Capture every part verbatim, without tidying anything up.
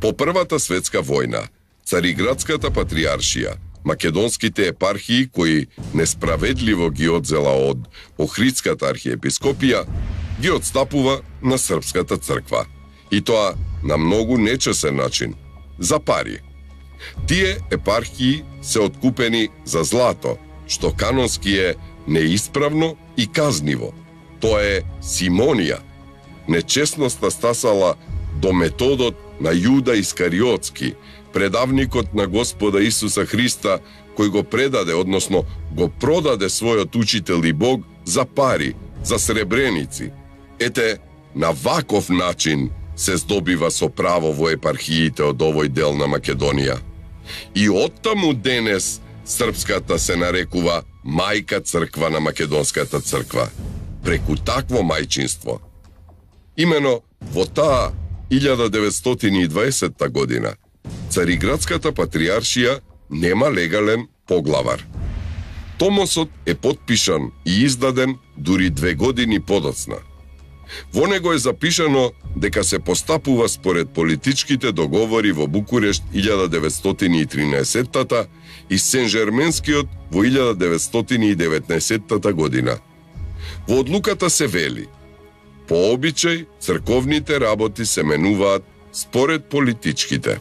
По Првата светска војна, Цариградската патриаршија, македонските епархии кои несправедливо ги одзела од Охридската архиепископија, ги отстапува на Српската црква. И тоа на многу нечесен начин, за пари. Тие епархии се откупени за злато, што канонски е неисправно и казниво. Тоа е симонија. Нечесноста стасала до методот на Јуда Искариотски, предавникот на Господа Исуса Христа, кој го предаде, односно го продаде својот учител и Бог за пари, за сребреници. Ете, на ваков начин се здобива со право во епархиите од овој дел на Македонија. И оттаму денес Српската се нарекува мајка црква на Македонската црква, преку такво мајчинство. Имено во таа илјада деветстотини и дваесетта година Цариградската патриаршија нема легален поглавар. Томосот е потпишан и издаден дури две години подоцна. Во него е запишано дека се постапува според политичките договори во Букурешт илјада деветстотини и тринаесеттата и Сен-Жерменскиот во илјада деветстотини и деветнаесеттата година. Во одлуката се вели: по обичај црковните работи се менуваат според политичките.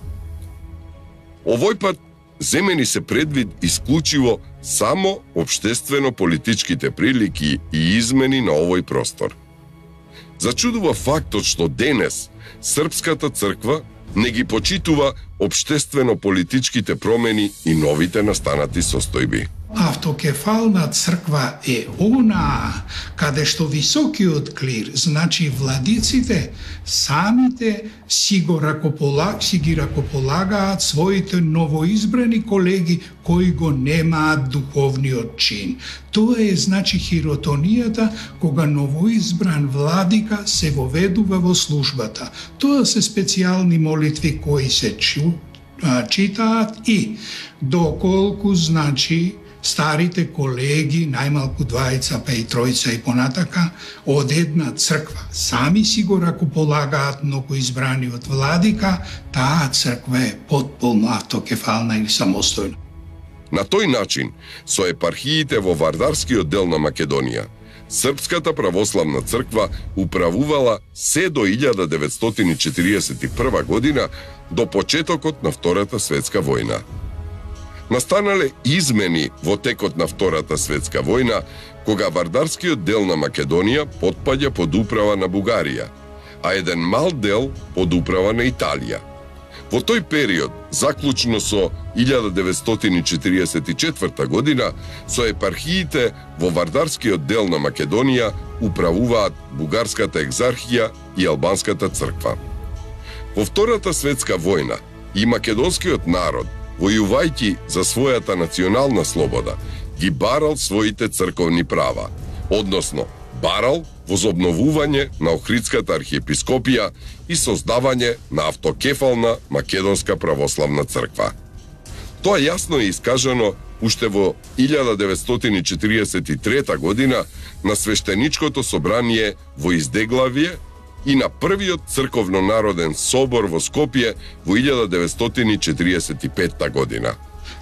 Овој пат земени се предвид исклучиво само општествено-политичките прилики и измени на овој простор. Зачудува фактот што денес Српската црква не ги почитува општествено-политичките промени и новите настанати состојби. Автокефална црква е она каде што високиот клир, значи владиците, самите си го ракополаг, си ги ракополагаат своите новоизбрани колеги кои го немаат духовниот чин. Тоа е значи хиротонијата кога новоизбран владика се воведува во службата. Тоа се специјални молитви кои се чу, а, читаат и доколку значи старите колеги, најмалку двајца, па и тројца и понатака, од една црква сами си го ракополагаат многу избраниот владика, таа црква е потполно автокефална или самостојна. На тој начин, со епархиите во Вардарскиот дел на Македонија, Српската православна црква управувала се до илјада деветстотини четириесет и прва година, до почетокот на Втората светска војна. Настанале измени во текот на Втората светска војна, кога Вардарскиот дел на Македонија потпаѓа под управа на Бугарија, а еден мал дел под управа на Италија. Во тој период, заклучно со илјада деветстотини четириесет и четврта година, со епархиите во Вардарскиот дел на Македонија управуваат Бугарската екзархија и Албанската црква. Во Втората светска војна и македонскиот народ, војувајќи за својата национална слобода, ги барал своите црковни права, односно барал возобновување на Охридската архиепископија и создавање на автокефална Македонска православна црква. Тоа јасно е искажано уште во илјада деветстотини четириесет и трета година на свештеничкото собрание во Издеглавје и на првиот црковно-народен собор во Скопје во илјада деветстотини четириесет и петта година.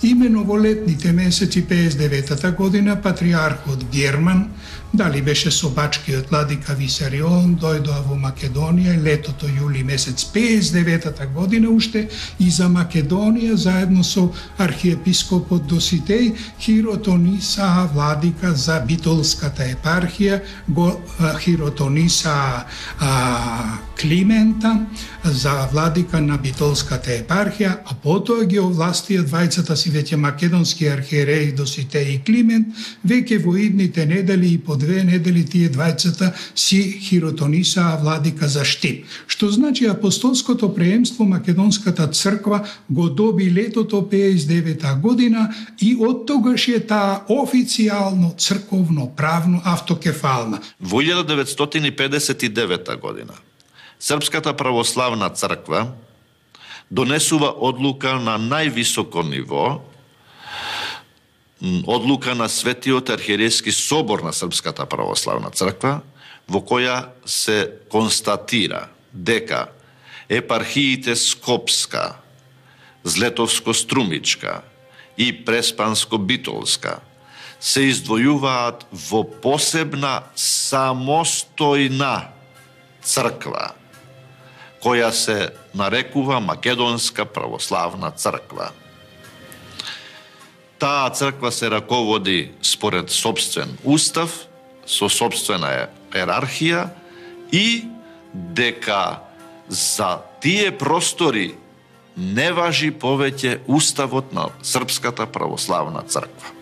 Имено во летните месеци пеесет и деветата година патриархот Герман, дали беше со бачкиот владика Висарион, дојдоа во Македонија летото јули месец пеесет и деветата година уште и за Македонија заедно со архиепископот Доситеј хиротониса владика за Битолската епархија, го хиротониса а, Климента за владика на Битолската епархија, а потоа ги овластија двајцата си веќе македонски архиереи Доситеј и Климент, веќе во идните недели и по две недели тие двајцата си хиротонисаа владика за Штип. Што значи апостолското преемство Македонската црква го доби летото пеесет и девета година и од тогаш е таа официјално црковно правно автокефална. Во илјада деветстотини педесет и девета година Српската православна црква донесува одлука на највисоко ниво, одлука на Светиот архиерејски собор на Српската православна црква, во која се констатира дека епархиите Скопска, Злетовско-Струмичка и Преспанско-Битолска се издвојуваат во посебна самостојна црква, која се нарекува Македонска православна црква. Таа црква се раководи според собствен устав, со собствена ерархија и дека за тие простори не важи повеќе уставот на Српската православна црква.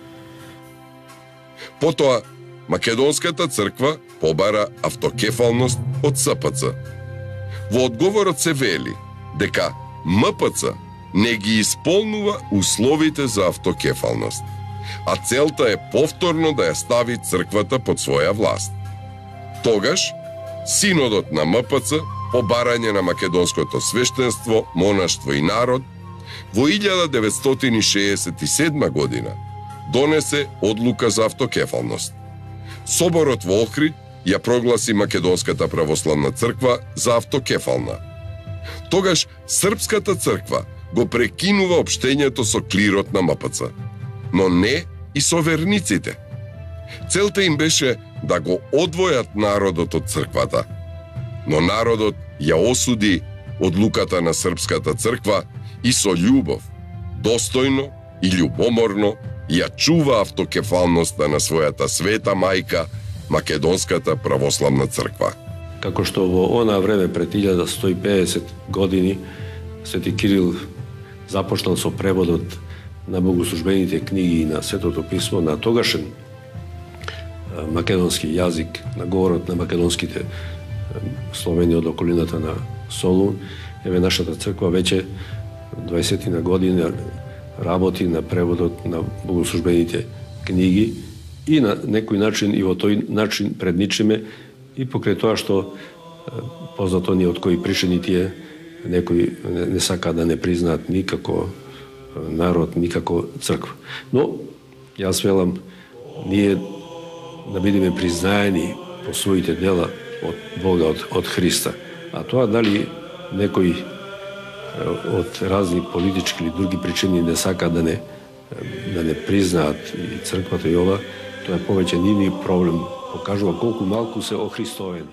Потоа, Македонската црква побара автокефалност од С П Ц. Во одговорот се вели дека М П Ц не ги исполнува условите за автокефалност, а целта е повторно да ја стави црквата под своја власт. Тогаш, Синодот на М П Ц, по барање на македонското свештенство, монаштво и народ, во илјада деветстотини шеесет и седма година донесе одлука за автокефалност. Соборот во Охрид ја прогласи Македонската православна црква за автокефална. Тогаш Српската црква го прекинува општењето со клирот на М П Ц, но не и со верниците. Целта им беше да го одвојат народот од црквата, но народот ја осуди одлуката на Српската црква и со љубов, достојно и љубоморно ја чува автокефалноста на својата света мајка, Македонската православна црква. Како што во она време пред илјада сто и педесет години Свети Кирил започнал со преводот на богослужбените книги и на Светото писмо на тогашен македонски јазик, на говорот на македонските словени од околината на Солун, еве нашата црква веќе дваесетина година работи на преводот на богослужбените книги и на некој начин и во тој начин предничиме и покрај тоа што познато ни од кои причини тие некои не, не сака да не признаат никако народ, никако црква. Но јас велам ние да бидеме признаени по своите дела од Бога, од, од Христа. А тоа дали некои од разни политички или други причини не сака да не да не признаат и црквата и ова, тоа е повеќе нивни проблем, покажува колку малку се охристовени.